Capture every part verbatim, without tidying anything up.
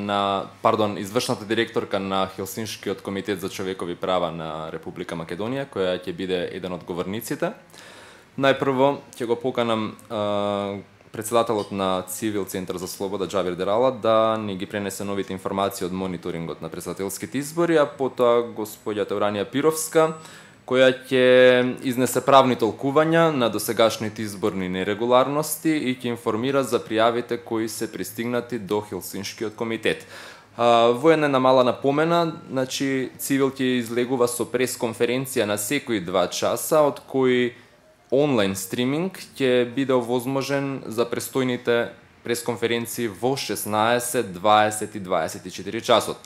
на, пардон, извршната директорка на Хелсиншкиот комитет за човекови права на Република Македонија, која ќе биде еден од говорниците. Најпрво ќе го поканам а, председателот на Цивил Центар за слобода Џабир Дерала да ни ги пренесе новите информации од мониторингот на председателските избори, а потоа господјата Уранија Пировска, која ќе изнесе правни толкувања на досегашните изборни нерегуларности и ќе информира за пријавите кои се пристигнати до Хелсиншкиот комитет. Во една мала напомена, значи Цивил ќе излегува со пресконференција на секои два часа, од кои онлайн стриминг ќе биде овозможен за престојните пресконференции во шеснаесет, дваесет и дваесет и четири часот.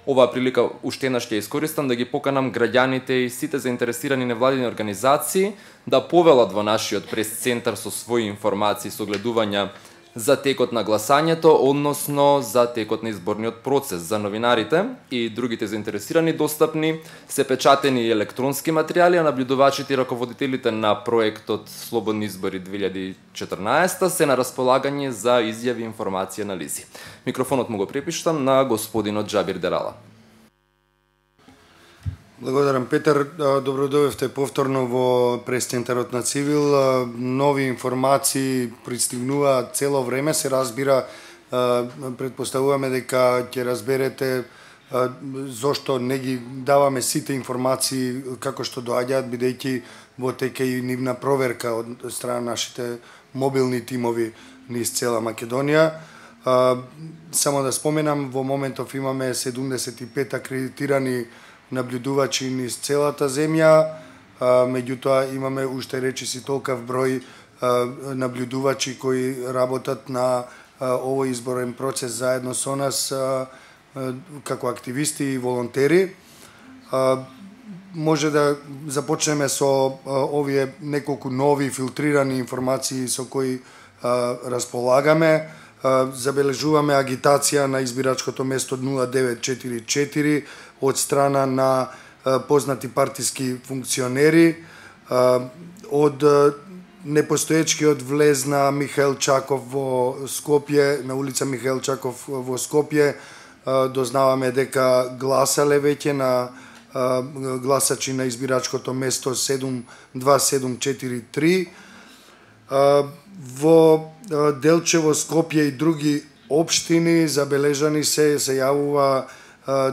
Оваа прилика уште еднаш ќе искористам да ги поканам граѓаните и сите заинтересирани невладини организации да повелат во нашиот прес-центар со своји информации и согледувања за текот на гласањето, односно за текот на изборниот процес. За новинарите и другите заинтересирани достапни се печатени електронски материјали, а набљудувачите и раководителите на проектот Слободни избори две илјади и четрнаесета се на располагање за изјави и информација на лизи. Микрофонот му го препиштам на господинот Џабир Дерала. Благодарам, Петар. Добро дојдовте повторно во прес-центарот на Цивил. Нови информации пристигнуваат цело време, се разбира. Предпоставуваме дека ќе разберете зошто не ги даваме сите информации како што доаѓаат, бидејќи во тека и нивна проверка од страна нашите мобилни тимови низ цела Македонија. Само да споменам, во моментов имаме седумдесет и пет акредитирани наблюдувачи низ целата земја, меѓутоа имаме уште речиси толкав број наблюдувачи кои работат на овој изборен процес заедно со нас како активисти и волонтери. Може да започнеме со овие неколку нови филтрирани информации со кои располагаме. Забележуваме агитација на избирачкото место нула девет четири четири од страна на познати партиски функционери, од непостоечкиот влез на Михаил Чаков во Скопје, на улица Михаил Чаков во Скопје, дознаваме дека гласале веќе на гласачи на избирачкото место седум два седум четири три. Во Делчево, Скопје и други општини забележани се се јавува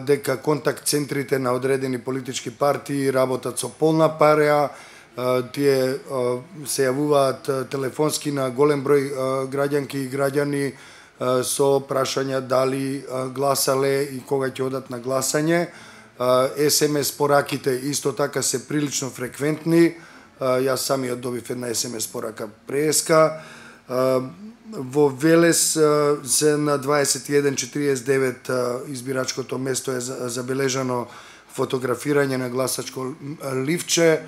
дека контакт центрите на одредени политички партии работат со полна пареа. Тие се јавуваат телефонски на голем број граѓанки и граѓани со прашања дали гласале и кога ќе одат на гласање. ес ем ес пораките исто така се прилично фреквентни. Јас самиот добив една ес ем ес порака преска. Во Велес се на дваесет и еден четириесет и девет избирачкото место е забележано фотографирање на гласачко ливче,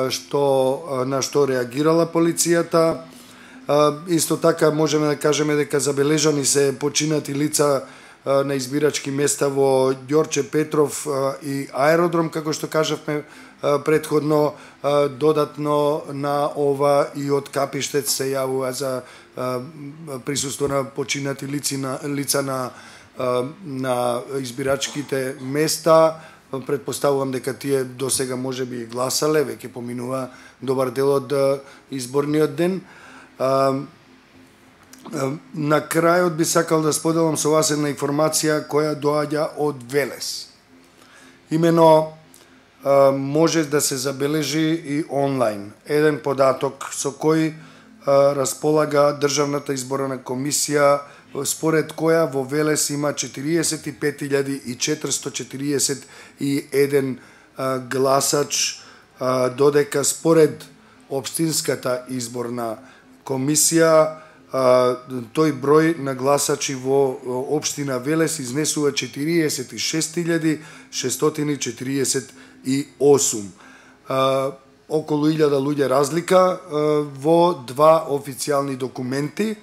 што на што реагирала полицијата. Исто така можеме да кажеме дека забележани се починати лица на избирачки места во Ѓорче Петров и аеродром, како што кажавме предходно. Додатно на ова и од Капиштец се јавува за присуство на починати лици на лица на на избирачките места. Предпоставувам дека тие досега можеби и гласале, веќе поминува добар дел од изборниот ден. На крајот би сакал да споделам со вас една информација која доаѓа од Велес. Имено може да се забележи и онлайн еден податок со кој располага Државната изборна комисија, според која во Велес има четириесет и пет илјади и четиристо четириесет и еден гласач, додека според општинската изборна комисија тој број на гласачи во општина Велес изнесува четириесет и шест илјади шестстотини четириесет и осум. Околу илјада луѓе разлика во два официјални документи.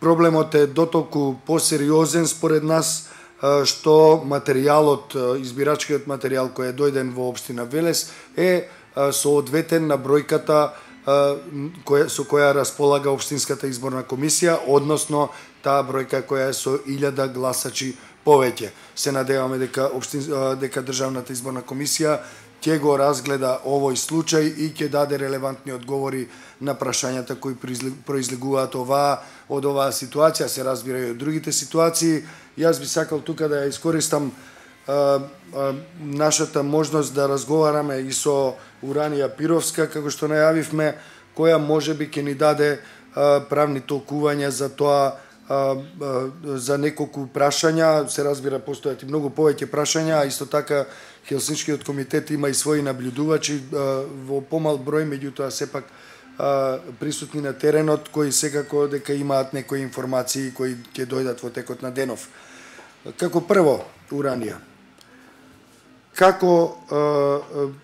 Проблемот е дотолку посериозен според нас што материјалот, избирачкиот материјал кој е дојден во општина Велес е соодветен на бројката која, со која располага Општинската изборна комисија, односно таа бројка која е со илјада гласачи повеќе. Се надеваме дека Општин, дека Државната изборна комисија ќе го разгледа овој случај и ќе даде релевантни одговори на прашањата кои произлегуваат оваа од оваа ситуација, се разбира и од другите ситуации. Јас би сакал тука да ја искористам а, а, нашата можност да разговараме и со Уранија Пировска, како што најавивме, која можеби ќе ни даде а, правни толкувања за тоа, а, а, за неколку прашања. Се разбира, постојат и многу повеќе прашања, а исто така Хелсиншкиот комитет има и своји наблюдувачи а, во помал број, меѓутоа сепак а, присутни на теренот, кои секако дека имаат некои информации кои ќе дојдат во текот на денов. Како прво, Уранија, како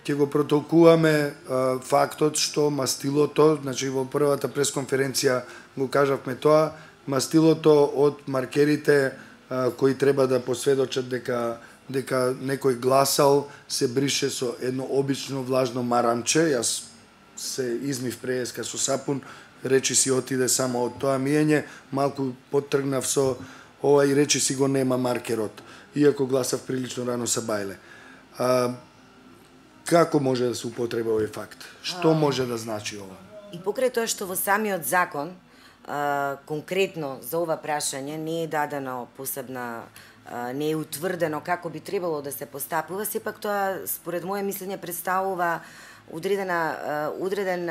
ќе го протолкуваме а, фактот што мастилото, значи во првата пресконференција го кажавме тоа, мастилото од маркерите а, кои треба да посведочат дека дека некој гласал се брише со едно обично влажно марамче. Јас се измив преска со сапун, речи си отиде само од тоа миење, малку поттргнав со ова и речи си го нема маркерот, иако гласав прилично рано са бајле. А, како може да се употреба овој факт? Што може да значи ова? И покрај тоа што во самиот закон, а, конкретно за ова прашање, не е дадено посебна, а, не е утврдено како би требало да се постапува, сепак тоа, според моје мислење, представува одредена, одреден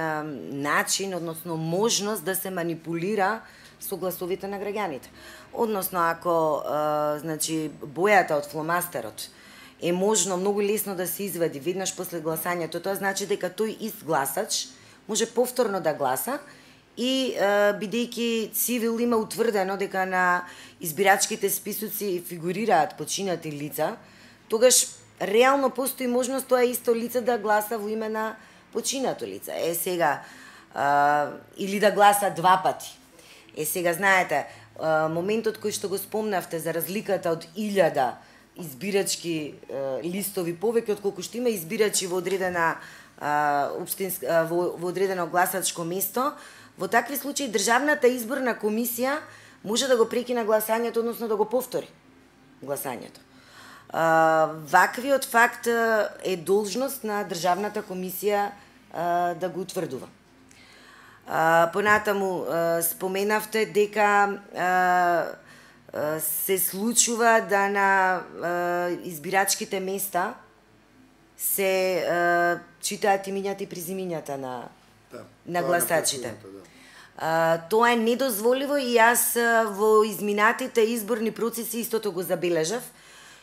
начин, односно можност да се манипулира со гласовите на граѓаните. Односно, ако а, значи, бојата од фломастерот е можно многу лесно да се извади веднаш после гласањето, тоа значи дека тој ист гласач може повторно да гласа и бидејќи цивил има утврдено дека на избирачките списоци фигурираат починати лица, тогаш реално постои можност тоа исто лице да гласа во име на починато лице. Е сега а, или да гласа два пати. Е сега знаете, а, моментот кој што го спомнавте за разликата од илјада избирачки а, листови повеќе отколку што има избирачи во одредена а, општинска во, во одредено гласачко место, во такви случаи Државната изборна комисија може да го прекина гласањето, односно да го повтори гласањето. А, ваквиот факт е должност на Државната комисија а, да го утврдува. А, понатаму а, споменавте дека а, а, се случува да на а, избирачките места се а, читаат имињата и презимињата на, да, на гласачите. Да. А, тоа е недозволиво и јас во изминатите изборни процеси истото го забележав.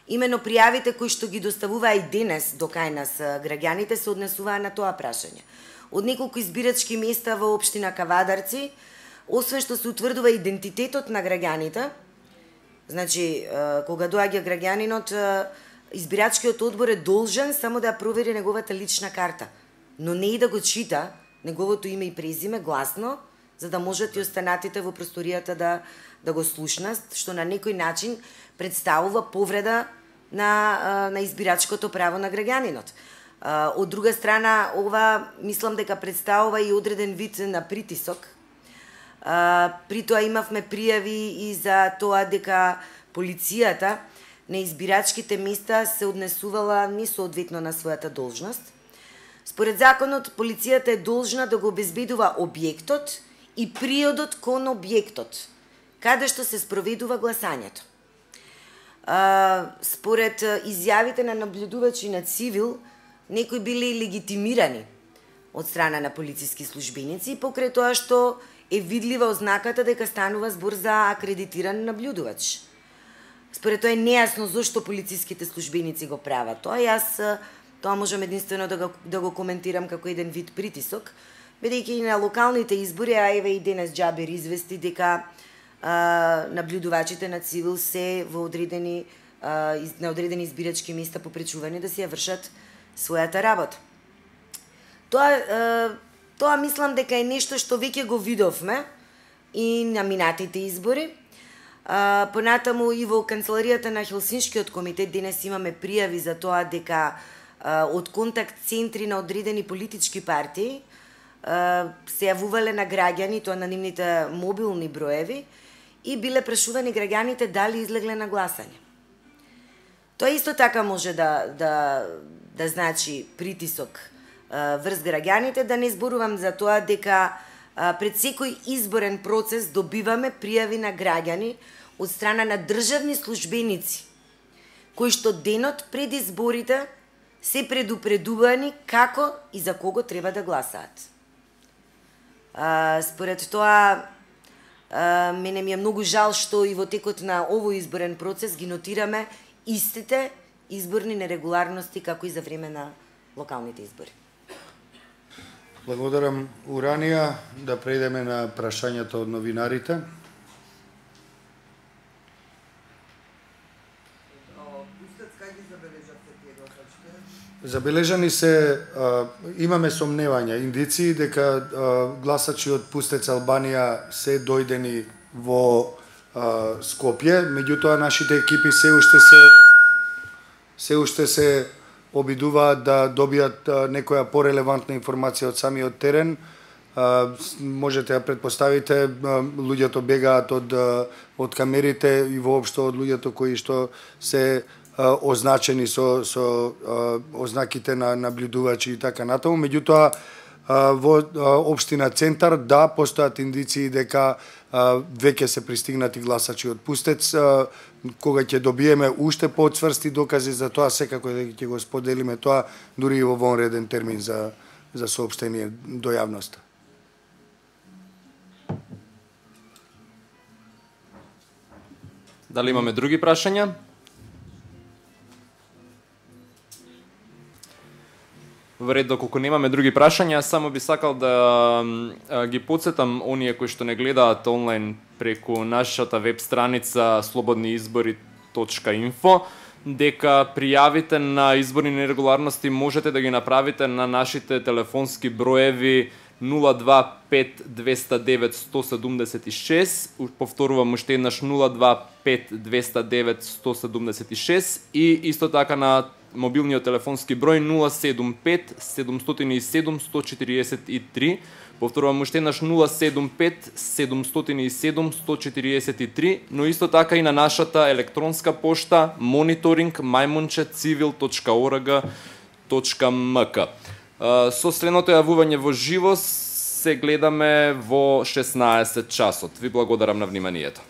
Имено пријавите кои што ги доставуваа и денес до кај нас граѓаните се однесуваа на тоа прашање. Од неколку избирачки места во општина Кавадарци, освен што се утврдува идентитетот на граѓаните, значи кога доаѓа граѓанинот, избирачкиот одбор е должен само да провери неговата лична карта, но не и да го чита неговото име и презиме гласно, за да можат и останатите во просторијата да да го слушнат, што на некој начин представува повреда на, на избирачкото право на граѓанинот. Од друга страна, ова мислам дека представува и одреден вид на притисок. При тоа имавме пријави и за тоа дека полицијата на избирачките места се однесувала несоодветно на својата должност. Според законот, полицијата е должна да го обезбедува објектот и приодот кон објектот, каде што се спроведува гласањето. А, според изјавите на наблюдувачи на цивил, некои били легитимирани од страна на полициски службеници, покрај тоа што е видлива ознаката дека станува збор за акредитиран наблюдувач. Според тоа е нејасно зошто полициските службеници го прават тоа. Јас тоа можам единствено да го, да го коментирам како еден вид притисок, бидејќи и на локалните избори, а еве и денес Џабер извести дека а, наблюдувачите на цивил се во одредени а, из, на одредени избирачки места попречувани да си ја вршат својата работа. Тоа а, тоа мислам дека е нешто што веќе го видовме и на минатите избори. А, понатаму и во канцеларијата на Хелсиншкиот комитет денес имаме пријави за тоа дека а, од контакт центри на одредени политички партии се јавувале на граѓани, тоа на нивните мобилни броеви, и биле прашувани граѓаните дали излегле на гласање. Тоа исто така може да, да, да значи притисок врз граѓаните, да не зборувам за тоа дека пред секој изборен процес добиваме пријави на граѓани од страна на државни службеници, кои што денот пред изборите се предупредувани како и за кого треба да гласаат. Според тоа, мене ми е многу жал што и во текот на овој изборен процес ги нотираме истите изборни нерегуларности како и за време на локалните избори. Благодарам, Уранија. Да преидеме на прашањето од новинарите. Забележани се, а, имаме сомневања, индиции дека а, гласачи од Пустец Албанија се дојдени во а, Скопје, меѓутоа нашите екипи се уште се се уште се обидуваат да добијат а, некоја порелевантна информација од самиот терен. А, можете да претпоставите, а, луѓето бегаат од од камерите и воопшто од луѓето кои што се означени со со ознаките на наблюдувачи и така натаму. Меѓутоа во општина Центар да постојат индиции дека веќе се пристигнати гласачи од Пустец. Кога ќе добиеме уште поцврсти докази за тоа, секако ќе го споделиме тоа дури и во вонреден термин за за соопштение до јавноста. Дали имаме други прашања? Во ред, доколку немаме други прашања, само би сакал да ги подсетам оние кои што не гледаат онлайн преку нашата веб страница слободни избори точка инфо, дека пријавите на изборни нерегуларности можете да ги направите на нашите телефонски броеви нула два пет двеста девет сто седумдесет и шест, повторувам уште еднаш нула два пет двеста девет сто седумдесет и шест, и исто така на мобилниот телефонски број нула седум пет седумстотини и седум сто четириесет и три, повторувам уште еднаш нула седум пет седумстотини и седум сто четириесет и три, но исто така и на нашата електронска пошта мониторинг мајмунче цивил точка орг точка мк. Со следното јавување во живо се гледаме во шеснаесет часот. Ви благодарам на вниманието.